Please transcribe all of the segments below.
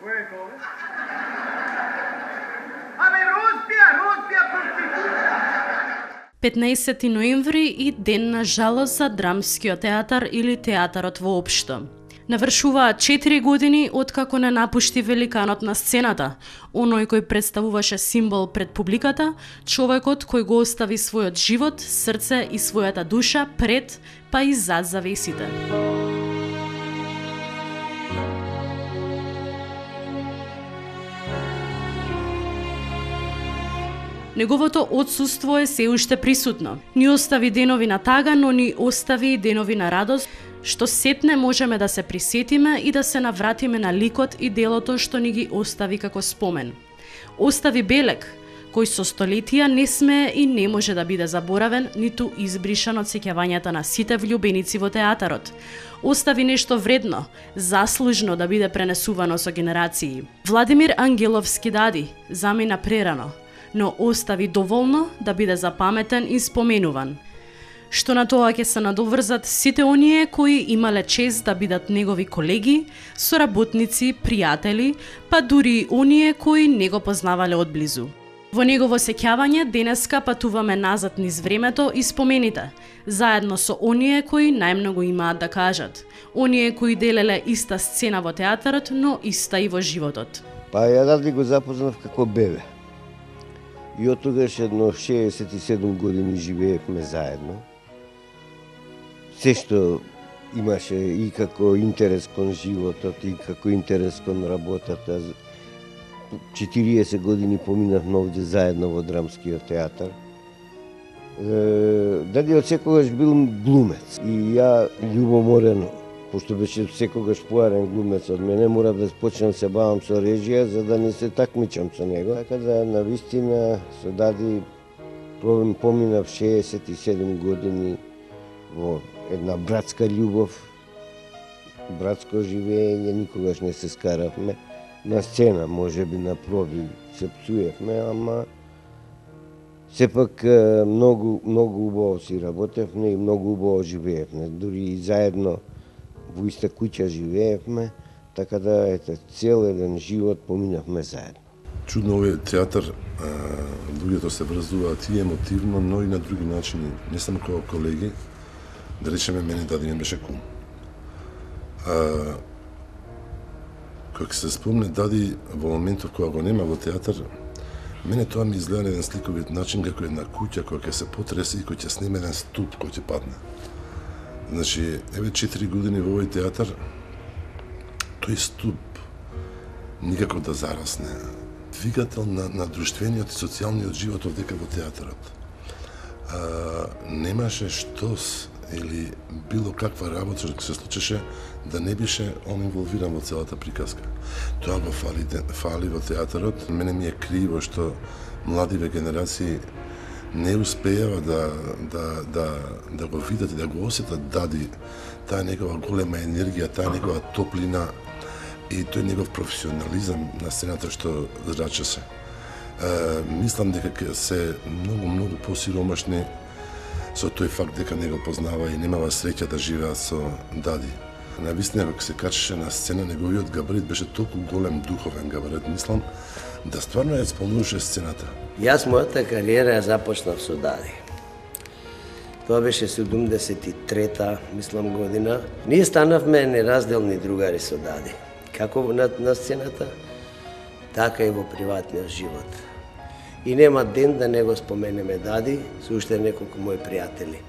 Кој е тоа? Абе, Роспија, проститута! 15 ноември и ден на жалост за драмскиот театар или театарот воопшто. Навршуваат 4 години откако не напушти великанот на сцената, оној кој представуваше символ пред публиката, човекот кој го остави својот живот, срце и својата душа пред, па и зад завесите. Неговото отсуство е се уште присутно. Ни остави денови на тага, но ни остави и денови на радост, што сетне можеме да се присетиме и да се навратиме на ликот и делото што ни ги остави како спомен. Остави белег, кој со столетија не смее и не може да биде заборавен, ниту избришан од сеќавањата на сите влюбеници во театарот. Остави нешто вредно, заслужно да биде пренесувано со генерации. Владимир Ангеловски дади, замина прерано, но остави доволно да биде запаметен и споменуван. Што на тоа ќе се надоврзат сите оние кои имале чест да бидат негови колеги, соработници, пријатели, па дури и оние кои не го познавале одблизу. Во негово сеќавање денеска патуваме назад низ времето и спомените, заедно со оние кои најмногу имаат да кажат, оние кои делеле иста сцена во театарот, но иста и во животот. Па ја Ради го запознав како бебе. И од тогаш едно 67 години живеевме заедно. Се што имаше и како интерес кон животот, и како интерес кон работата. 40 години поминавме овде заедно во Драмскиот театар. Дади од секогаш бил глумец. И ја љубоморено, пошто беше секогаш поарен глумец од мене, морав да почнам се бавам со режија, за да не се такмичам со него. Така да, навистина, со Дади поминав 67 години во една братска љубов, братско живење, никогаш не се скаравме. На сцена, може би на проби се пцуевме, ама сепак многу убаво си работевме и многу убаво живеевме. Дури и заедно во иста куќа живеевме, така да ете цел еден живот поминавме заедно. Чудно овој театар, луѓето се врзуваат и емотивно, но и на други начини, не само како колеги. Да речеме, мене Дади ми беше кум. Кога се спомне Дади во моментов кога го нема во театар, мене тоа ми изгледа на еден сликовит начин како една куќа која ќе се потресе и кој ќе сниме еден ступ кој ќе падне. Значи, еве 4 години во овој театар, тој ступ никако да зарасне. Двигател на друштвениот и социјалниот живот овдека во театарот. Немаше штос или било каква работа што се случеше да не беше он инволвиран во целата приказка. Тоа го фали во театарот. Мене ми е криво што младиве генерации не успеава да го видат и да го осетат Дади, таа негова голема енергија, таа негова топлина и тој негов професионализам на сцената што зраче се. Мислам дека ќе се многу посиромашни со тој факт дека не го познава и немава среќа да живеат со Дади. Навистина, кога се качеше на сцена, неговиот габарит беше толку голем духовен габарит, мислам, да стварно ја исполнуваше сцената. Јас мојата кариера ја започнав со Дади. Тоа беше 73-та, мислам, година. Ние станавме неразделни другари со Дади. Како на сцената, така и во приватниот живот. И нема ден да не го споменеме Дади со уште неколку мои пријатели.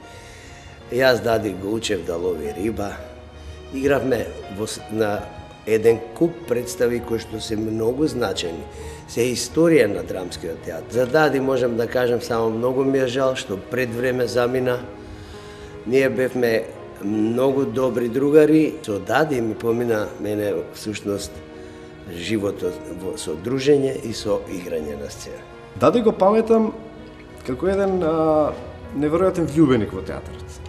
Јас Дади го учев да лови риба. Игравме на еден куп представи кои што се многу значени. Се историја на Драмскиот театар. За Дади можам да кажам само многу ми е жал што пред време замина. Ние бевме многу добри другари. Со Дади ми помина мене всушност животот со дружење и со играње на сцена. Дади го паметам како еден неверојатен влюбеник во театарот.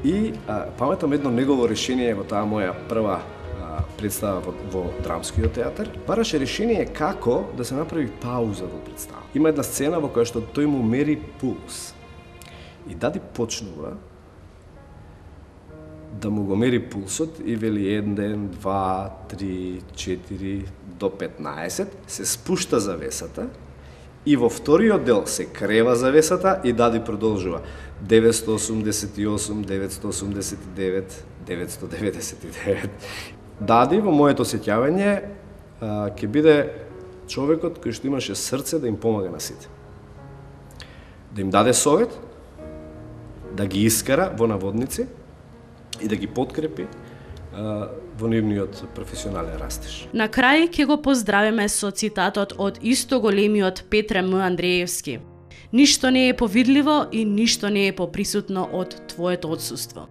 И паметам едно негово решение во таа моја прва представа во Драмскиот театар. Бараше решение како да се направи пауза во представа. Има една сцена во која што тој му мери пулс. И Дади почнува да му го мери пулсот и вели 1, 2, 3, 4 до 15, се спушта завесата и во вториот дел се крева завесата и Дади продолжува 988, 989, 999. Дади, во моето сеќавање, ќе биде човекот кој што имаше срце да им помага на сите. Да им даде совет, да ги искара во наводници и да ги подкрепи во нивниот професионален растеж. На крај ќе го поздравиме со цитатот од исто големиот Петре М. Андреевски. Ништо не е повидливо и ништо не е поприсутно од твоето отсуство.